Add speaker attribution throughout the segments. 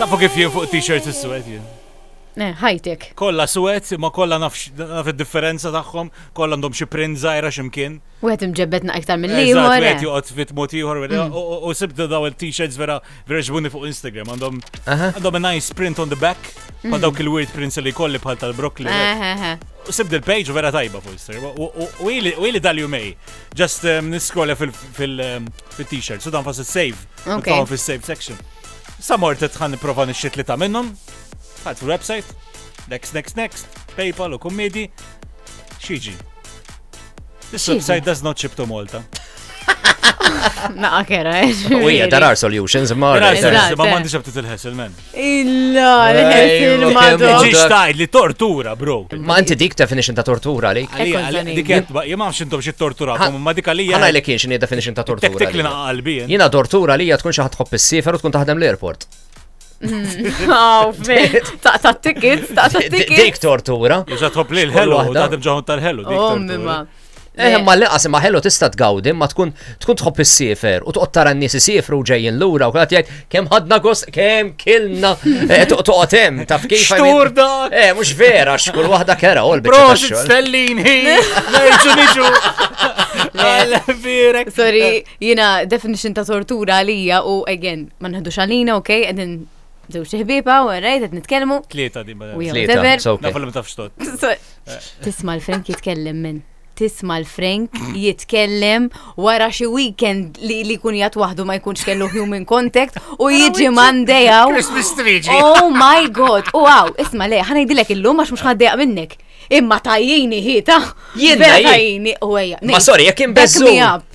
Speaker 1: Tafu kif jien fuq t-shirts is-suwed jien.
Speaker 2: Eh, ħajtek.
Speaker 1: Kollha suwed, imma kollha naf id-differenza tagħhom, kollha għandhom xi print żgħira x'imkien.
Speaker 2: Wieħed imġebbed iktar mill-ieħor.
Speaker 1: Wieħed eh. joqgħod fit mod ieħor mm. u sibt daw il-t-shirts vera vera ġbuni fuq Instagram għandhom għandhom a nice print on the back ma mm. dawk il-weird prints li kolli bħal tal-broccoli. U sibt il-page vera tajba fuq Instagram. U ili dal-jumej just um, niskrolla fil-t-shirt, so dan fas save. Fil-save section. Sa mortet ħan nipprova nixxi tlieta minnhom. Ħadd fil-website. Next, next, next. PayPal u kummedi. Xiġi. This website does not ship to Malta.
Speaker 2: Naqa kera, eh.
Speaker 3: U hija there are solutions, ma.
Speaker 1: There are solutions, ma m'għandix aptit il-ħesel, man.
Speaker 2: Illa, l-ħesel ma.
Speaker 1: Ġiġ tajd li tortura, bro.
Speaker 3: Ma inti dik definition ta' tortura għalik.
Speaker 1: Dik qed, jien ma nafx intom xi torturakom, ma dik għalija.
Speaker 3: Ħa ngħidlek jien x'inhi definition ta' tortura.
Speaker 1: Tektik li naqa' qalbi.
Speaker 3: Jiena tortura għalija tkun xi ħadd tħobb issiefer u tkun taħdem l-airport.
Speaker 2: Oh, Taqta' tickets, taqta' tickets.
Speaker 3: Dik tortura.
Speaker 1: Iżda tħobb li l-ħelu, taħdem ġaħun tal-ħelu.
Speaker 2: Oh, mimma.
Speaker 3: Eh, ma l-inqas imma ħelu tista' tgawdi, ma tkun tkun tħobb issiefer u toqgħod tara n-nies isiefru u ġejjin lura u kulħadd jgħid kemm ħadna gost, kemm kilna, eh, toqgħod hemm taf kif.
Speaker 1: Xtur dak!
Speaker 3: Eh, mhux vera, x'kull waħda kera u l-biċċa
Speaker 1: Prosit stellin hi, nerġu niġu. Għal-birek.
Speaker 2: Sorry, jina definition ta' tortura għalija u again, ma nħedux għalina, ok, għedin żewġ ħbieba u rajt qed nitkellmu.
Speaker 1: Tlieta di ma.
Speaker 3: Tlieta,
Speaker 1: Nafu li ma tafx tot.
Speaker 2: Tisma' l-Frank jitkellem minn. Tisma' l-Frank jitkellem wara xi weekend li li jkun jgħat waħdu ma jkunx kellu human contact u jiġi Monday hawn.
Speaker 1: Christmas tree
Speaker 2: Oh my god. U għaw, isma' le, ħa ngħidilek illum għax mhux ħaddejaq minnek. Imma tajjini ħita.
Speaker 3: Jien
Speaker 2: tajjini u ejja.
Speaker 3: Ma sorry, jekk inbeżżu.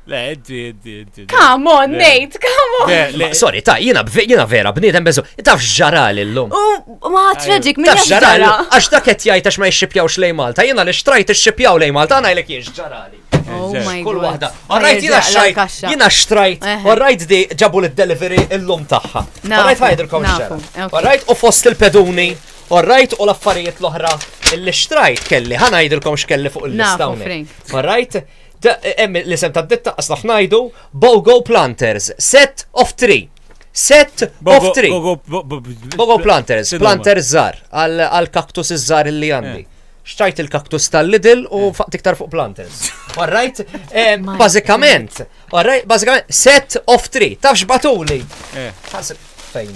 Speaker 1: Le, inti, inti, inti.
Speaker 2: Come on, Nate, come on.
Speaker 1: Le,
Speaker 3: Sorry, ta' jina, jina vera, bniedem beżu. Taf x'ġarali llum.
Speaker 2: U ma tragic, min
Speaker 3: Taf x'ġarali? Għax dak qed jgħid għax ma jixxipjawx lej Malta. Jiena li xtrajt ixxipjaw lej Malta, ngħidlek jien x'ġarali.
Speaker 2: Oh my
Speaker 3: Kull
Speaker 2: God.
Speaker 3: waħda. All right, jiena xtrajt. Jiena xtrajt. All right, di ġabu l-delivery illum tagħha. All right, ħajdilkom x'ġara. All right, u fost il-peduni. All right, u l-affarijiet l-oħra li xtrajt kelli. Ħa ngħidilkom x'kelli fuq il-lista hawnhekk. All right? Hemm l-isem tad-ditta qas naf ngħidu Bogo Planters, set of three. Set of three. Bogo Planters, planters żgħar għal kaktus iż-żgħar li għandi. Eh. Xtrajt il-kaktus tal-Lidl u eh. faqt iktar fuq planters. All right? Eh, bażikament, all right, bażikament set of three. Tafx batuli.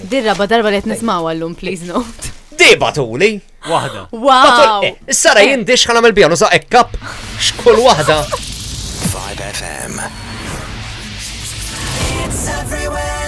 Speaker 2: Dirra ba darba li qed nismgħu għallum, please note.
Speaker 3: Di batuli.
Speaker 1: Waħda.
Speaker 2: Wow!
Speaker 3: Eh, issa ra jien dix ħa nagħmel biha nuża hekk x'kull waħda.
Speaker 4: 5FM. It's everywhere.